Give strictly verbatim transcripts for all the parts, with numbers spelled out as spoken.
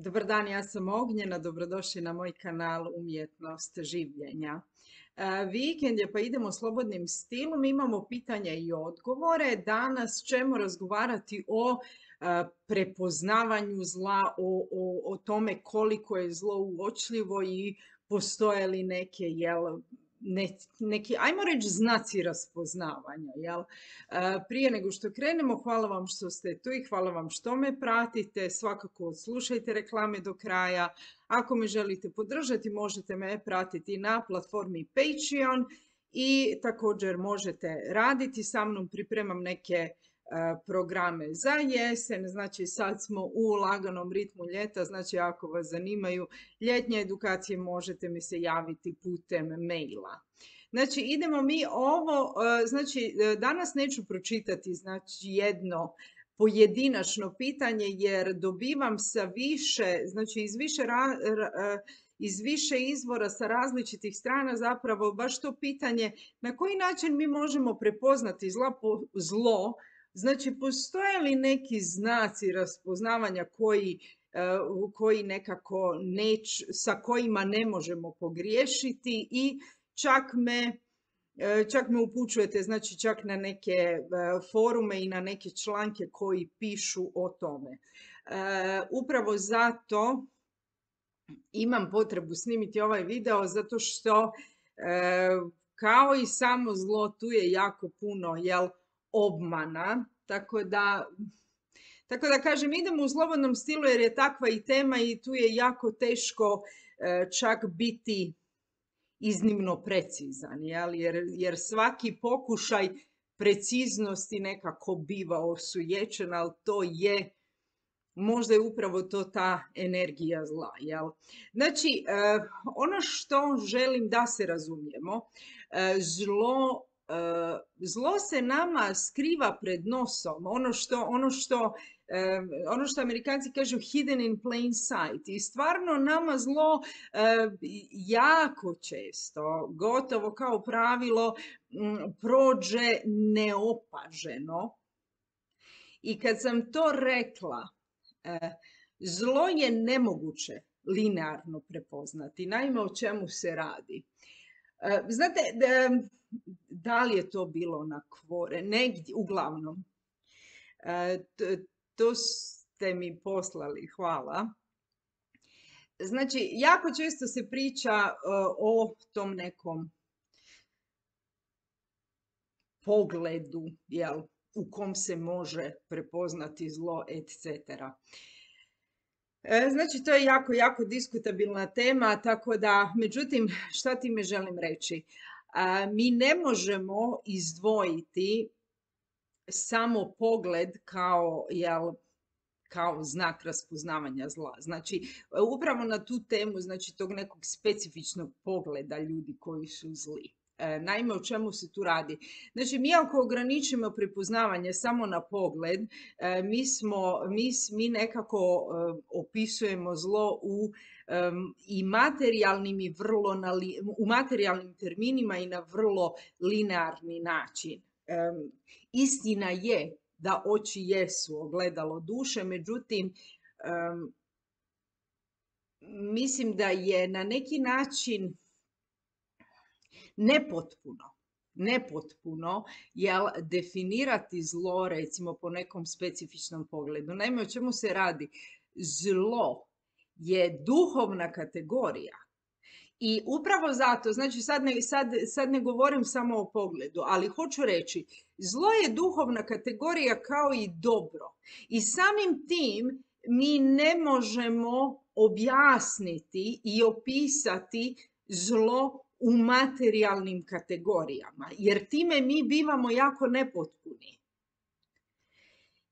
Dobar dan, ja sam Ognjena, dobrodošli na moj kanal Umjetnost življenja. E, Vikend je pa idemo slobodnim stilom, imamo pitanja i odgovore. Danas ćemo razgovarati o e, prepoznavanju zla, o, o, o tome koliko je zlo uočljivo i postoje li neke, jel, ne- neki, ajmo reći, znaci raspoznavanja, jel? E, Prije nego što krenemo, hvala vam što ste tu i hvala vam što me pratite. Svakako odslušajte reklame do kraja. Ako me želite podržati, možete me pratiti na platformi Patreon i također možete raditi sa mnom. Pripremam neke programe za jesen, znači sad smo u laganom ritmu ljeta, znači ako vas zanimaju ljetnje edukacije možete mi se javiti putem maila. Znači idemo mi ovo, znači danas neću pročitati znači jedno pojedinačno pitanje jer dobivam sa više, znači iz više, ra, ra, iz više izvora sa različitih strana zapravo baš to pitanje na koji način mi možemo prepoznati zla, zlo. Znači, postoje li neki znaci raspoznavanja koji, koji nekako neć, sa kojima ne možemo pogriješiti i čak me, čak me upućujete, znači čak na neke forume i na neke članke koji pišu o tome. Upravo zato imam potrebu snimiti ovaj video, zato što kao i samo zlo, tu je jako puno, jel, obmana, tako da, tako da kažem, idemo u slobodnom stilu jer je takva i tema i tu je jako teško e, čak biti iznimno precizan, jel? Jer, jer svaki pokušaj preciznosti nekako biva osujećen, ali to je, možda je upravo to ta energija zla, jel? Znači, e, ono što želim da se razumijemo, e, zlo zlo se nama skriva pred nosom, ono što, ono što, ono što Amerikanci kažu hidden in plain sight. I stvarno nama zlo jako često, gotovo kao pravilo, prođe neopaženo. I kad sam to rekla, zlo je nemoguće linearno prepoznati. Naime, o čemu se radi? Znate, da li je to bilo na kvore, negdje, uglavnom, to ste mi poslali, hvala. Znači, jako često se priča o tom nekom pogledu, jel, u kom se može prepoznati zlo, et cetera. Znači, to je jako, jako diskutabilna tema, tako da, međutim, šta time želim reći? Mi ne možemo izdvojiti samo pogled kao, jel, kao znak raspoznavanja zla. Znači, upravo na tu temu, znači, tog nekog specifičnog pogleda ljudi koji su zli. Naime, o čemu se tu radi? Znači, mi ako ograničimo prepoznavanje samo na pogled, mi, smo, mi, mi nekako opisujemo zlo u um, i materijalnim i vrlo na li, u materijalnim terminima i na vrlo linearni način. Um, istina je da oči jesu ogledalo duše, međutim, um, mislim da je na neki način nepotpuno, nepotpuno, jel, definirati zlo, recimo, po nekom specifičnom pogledu. Naime, o čemu se radi? Zlo je duhovna kategorija. I upravo zato, znači sad ne, sad, sad ne govorim samo o pogledu, ali hoću reći, zlo je duhovna kategorija kao i dobro. I samim tim mi ne možemo objasniti i opisati zlo u materijalnim kategorijama, jer time mi bivamo jako nepotpuni.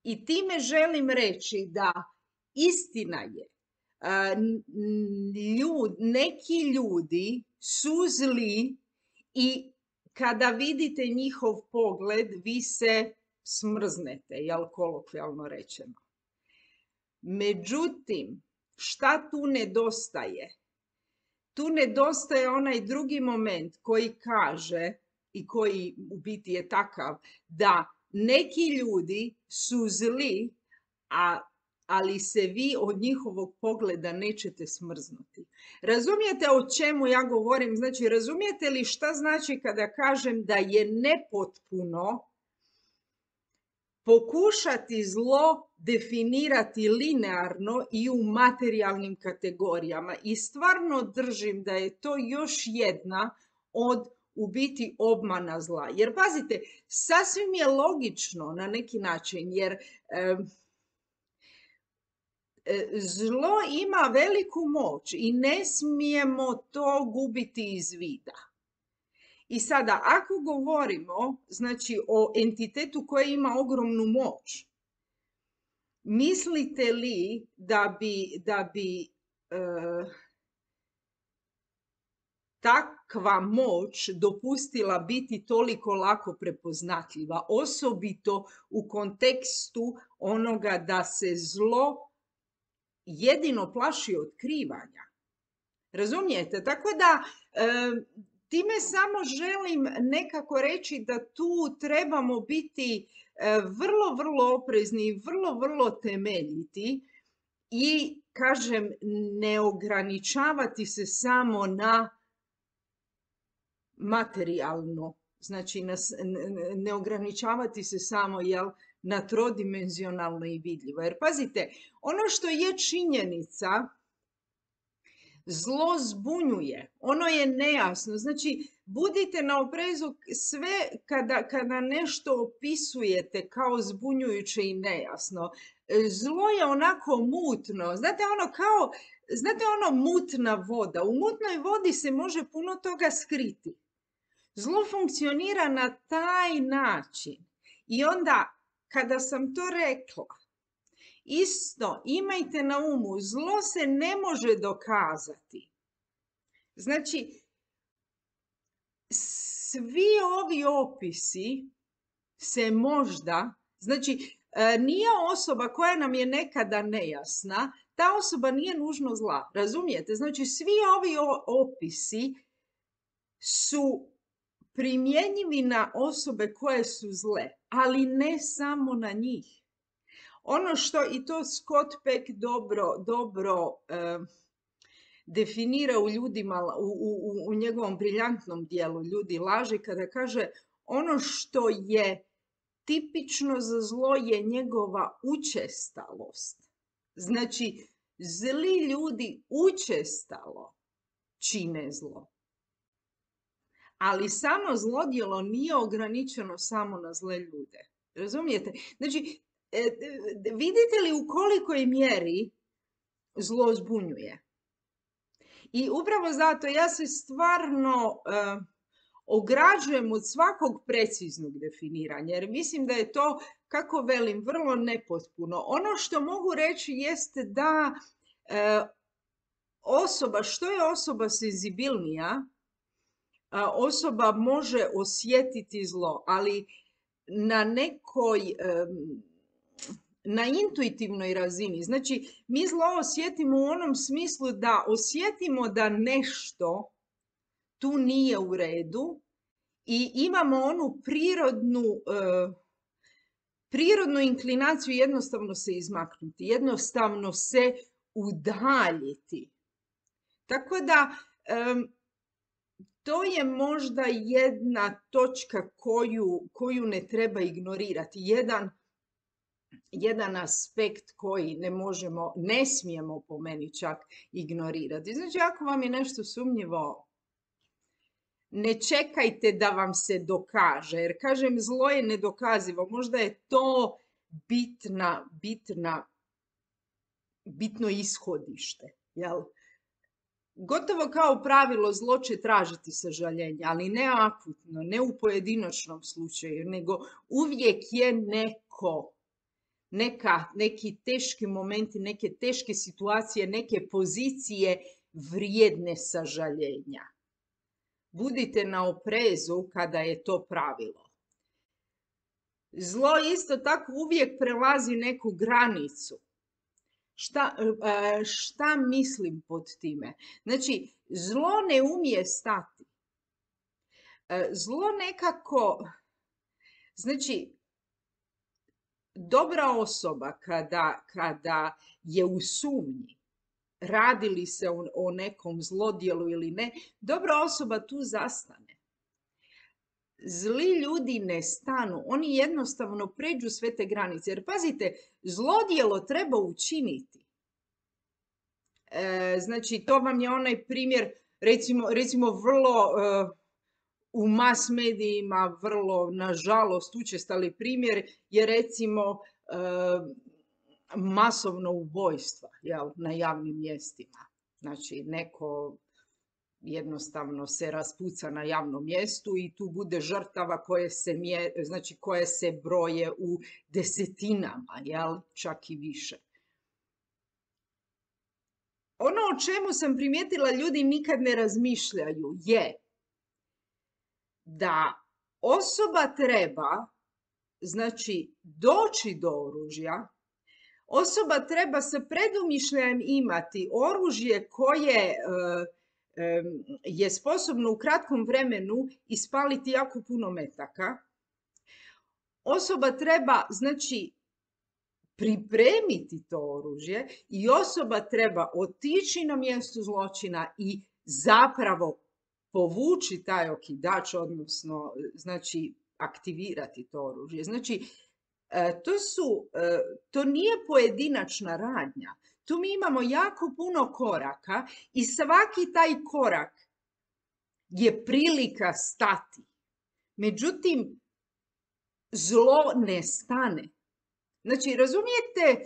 I time želim reći da istina je, ljud, neki ljudi su zli i kada vidite njihov pogled, vi se smrznete, jel, kolokvijalno rečeno. Međutim, šta tu nedostaje? Tu nedostaje onaj drugi moment koji kaže, i koji u biti je takav, da neki ljudi su zli, a ali se vi od njihovog pogleda nećete smrznuti. Razumijete o čemu ja govorim? Znači, razumijete li šta znači kada kažem da je nepotpuno pokušati zlo definirati linearno i u materijalnim kategorijama? I stvarno držim da je to još jedna od u biti obmana zla. Jer pazite, sasvim je logično na neki način, jer e, zlo ima veliku moć i ne smijemo to gubiti iz vida. I sada, ako govorimo, znači, o entitetu koji ima ogromnu moć, mislite li da bi, da bi e, takva moć dopustila biti toliko lako prepoznatljiva, osobito u kontekstu onoga da se zlo jedino plaši otkrivanja? Razumijete? Tako da e, time samo želim nekako reći da tu trebamo biti e, vrlo, vrlo oprezni i vrlo, vrlo temeljiti i, kažem, ne ograničavati se samo na materijalno, znači na, ne ograničavati se samo, jel, na trodimenzionalno i vidljivo. Jer pazite, ono što je činjenica, zlo zbunjuje, ono je nejasno. Znači, budite na oprezu sve kada, kada nešto opisujete kao zbunjujuće i nejasno. Zlo je onako mutno, znate ono kao, znate ono mutna voda. U mutnoj vodi se može puno toga skriti. Zlo funkcionira na taj način. I onda, kada sam to rekla, isto imajte na umu, zlo se ne može dokazati. Znači, svi ovi opisi se možda, znači, nije osoba koja nam je nekada nejasna, ta osoba nije nužno zla, razumijete? Znači, svi ovi opisi su primjenjivi na osobe koje su zle, ali ne samo na njih. Ono što i to Scott Peck dobro, dobro eh, definira u ljudima, u, u, u njegovom briljantnom dijelu Ljudi laži, kada kaže ono što je tipično za zlo je njegova učestalost. Znači, zli ljudi učestalo čine zlo. Ali samo zlodjelo nije ograničeno samo na zle ljude. Razumijete? Znači, vidite li u kolikoj mjeri zlo zbunjuje? I upravo zato ja se stvarno uh, ograđujem od svakog preciznog definiranja, jer mislim da je to, kako velim, vrlo nepotpuno. Ono što mogu reći jeste da uh, osoba, što je osoba senzibilnija, uh, osoba može osjetiti zlo, ali na nekoj... Um, na intuitivnoj razini. Znači, mi zlo osjetimo u onom smislu da osjetimo da nešto tu nije u redu i imamo onu prirodnu, uh, prirodnu inklinaciju jednostavno se izmaknuti, jednostavno se udaljiti. Tako da, um, to je možda jedna točka koju, koju ne treba ignorirati. Jedan jedan aspekt koji ne možemo, ne smijemo po meni čak ignorirati. Znači, ako vam je nešto sumnjivo, ne čekajte da vam se dokaže, jer kažem, zlo je nedokazivo. Možda je to bitna, bitna, bitno ishodište. Jel? Gotovo kao pravilo, zlo će tražiti sažaljenje, ali ne akutno, ne u pojedinačnom slučaju, nego uvijek je neko. Neka, neki teški momenti, neke teške situacije, neke pozicije vrijedne sažaljenja. Budite na oprezu kada je to pravilo. Zlo isto tako uvijek prelazi neku granicu. Šta, šta mislim pod time? Znači, zlo ne umije stati. Zlo nekako, znači, dobra osoba kada, kada je u sumnji, radi li se o, o nekom zlodjelu ili ne, dobra osoba tu zastane. Zli ljudi ne stanu, oni jednostavno pređu sve te granice. Jer pazite, zlodjelo treba učiniti. E, znači, to vam je onaj primjer, recimo, recimo vrlo e, u mas medijima, vrlo, nažalost, učestali primjer je recimo e, masovno ubojstva, jel, na javnim mjestima. Znači, neko jednostavno se raspuca na javnom mjestu i tu bude žrtava koje se, mje, znači, koje se broje u desetinama, jel, čak i više. Ono o čemu sam primijetila ljudi nikad ne razmišljaju je da osoba treba, znači, doći do oružja, osoba treba sa predumišljajem imati oružje koje je sposobno u kratkom vremenu ispaliti jako puno metaka. Osoba treba, znači, pripremiti to oružje i osoba treba otići na mjesto zločina i zapravo povući taj okidač, odnosno, znači, aktivirati to oružje. Znači, to su, to nije pojedinačna radnja. Tu mi imamo jako puno koraka i svaki taj korak je prilika stati. Međutim, zlo ne stane. Znači, razumijete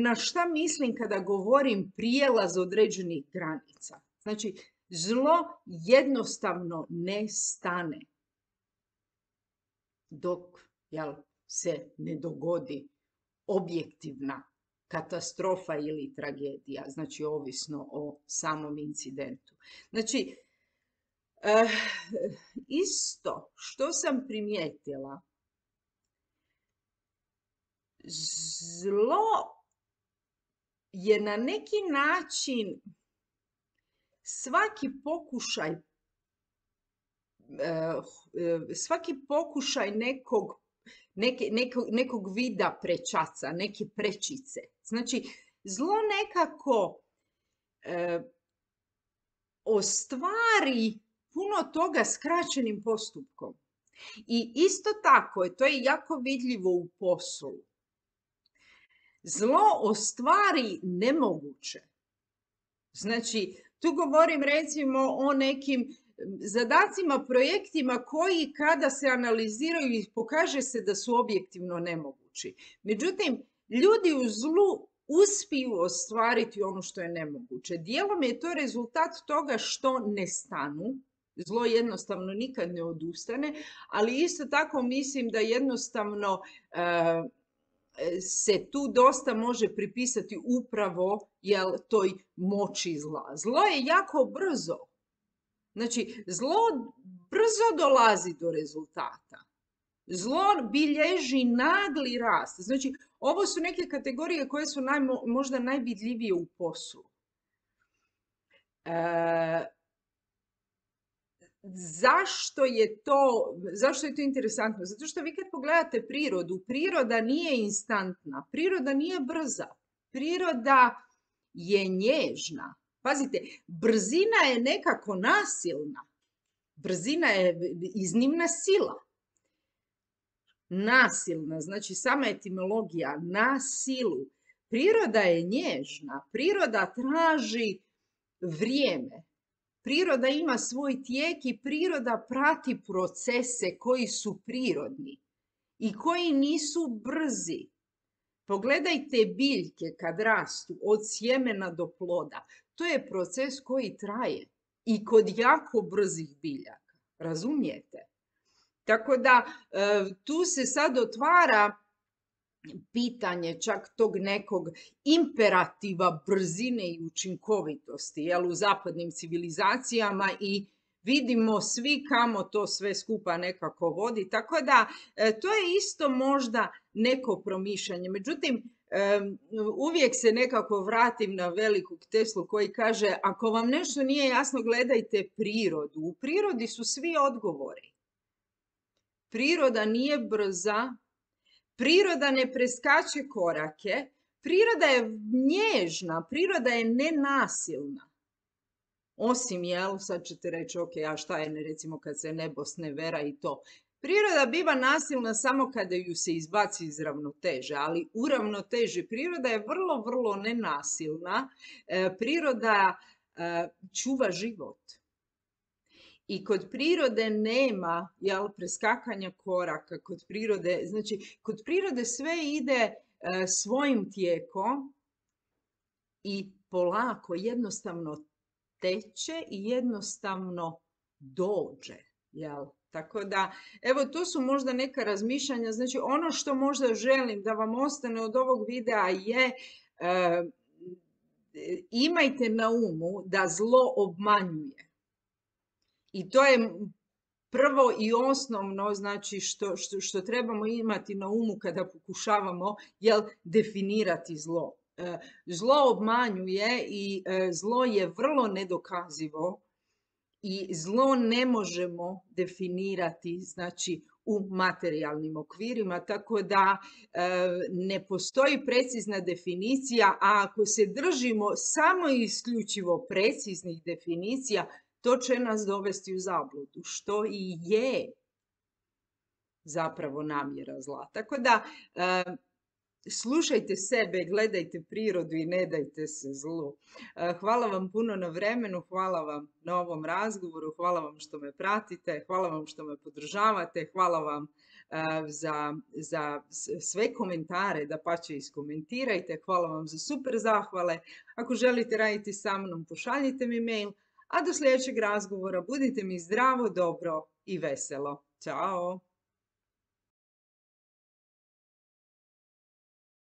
na šta mislim kada govorim prijelaz određenih granica? Znači, zlo jednostavno ne stane dok, jel, se ne dogodi objektivna katastrofa ili tragedija, znači ovisno o samom incidentu. Znači, eh, isto što sam primijetila, zlo je na neki način svaki pokušaj, svaki pokušaj nekog, neke, nekog, nekog vida prečaca, neke prečice. Znači, zlo nekako e, ostvari puno toga skraćenim postupkom. I isto tako, to je jako vidljivo u poslu. Zlo ostvari nemoguće. Znači, tu govorim recimo o nekim zadacima, projektima koji kada se analiziraju pokaže se da su objektivno nemogući. Međutim, ljudi u zlu uspiju ostvariti ono što je nemoguće. Dijelom je to rezultat toga što ne stanu. Zlo jednostavno nikad ne odustane, ali isto tako mislim da jednostavno uh, se tu dosta može pripisati upravo, jel, toj moći zla. Zlo je jako brzo. Znači, zlo brzo dolazi do rezultata. Zlo bilježi nagli rast. Znači, ovo su neke kategorije koje su naj, možda najvidljivije u poslu. E, zašto je to, zašto je to interesantno? Zato što vi kad pogledate prirodu, priroda nije instantna, priroda nije brza, priroda je nježna. Pazite, brzina je nekako nasilna. Brzina je iznimna sila. Nasilna, znači sama etimologija, na silu. Priroda je nježna, priroda traži vrijeme. Priroda ima svoj tijek i priroda prati procese koji su prirodni i koji nisu brzi. Pogledajte biljke kad rastu od sjemena do ploda. To je proces koji traje i kod jako brzih biljaka. Razumijete? Tako da tu se sad otvara pitanje čak tog nekog imperativa brzine i učinkovitosti, jel, u zapadnim civilizacijama i vidimo svi kamo to sve skupa nekako vodi. Tako da to je isto možda neko promišljanje. Međutim, uvijek se nekako vratim na velikog Teslu koji kaže ako vam nešto nije jasno, gledajte prirodu. U prirodi su svi odgovori. Priroda nije brza. Priroda ne preskače korake, priroda je nježna, priroda je nenasilna. Osim, jel, sad ćete reći, ok, a šta je, recimo, kad se nebo snevera i to. Priroda biva nasilna samo kada ju se izbaci iz ravnoteže, ali u ravnoteži priroda je vrlo, vrlo nenasilna. E, priroda e, čuva život. I kod prirode nema, jel, preskakanja koraka, kod prirode, znači, kod prirode sve ide e, svojim tijekom i polako, jednostavno teče i jednostavno dođe, jel? Tako da, evo, to su možda neka razmišljanja. Znači, ono što možda želim da vam ostane od ovog videa je e, imajte na umu da zlo obmanjuje. I to je prvo i osnovno, znači, što, što, što trebamo imati na umu kada pokušavamo, jel, definirati zlo. E, zlo obmanjuje i e, zlo je vrlo nedokazivo. I zlo ne možemo definirati, znači, u materijalnim okvirima, tako da e, ne postoji precizna definicija, a ako se držimo samo i isključivo preciznih definicija, to će nas dovesti u zabludu, što i je zapravo namjera zla. Tako da, e, slušajte sebe, gledajte prirodu i ne dajte se zlu. Hvala vam puno na vremenu, hvala vam na ovom razgovoru, hvala vam što me pratite, hvala vam što me podržavate, hvala vam za, za sve komentare, da pače iskomentirajte, hvala vam za super zahvale. Ako želite raditi sa mnom, pošaljite mi mail, a do sljedećeg razgovora budite mi zdravo, dobro i veselo. Ćao!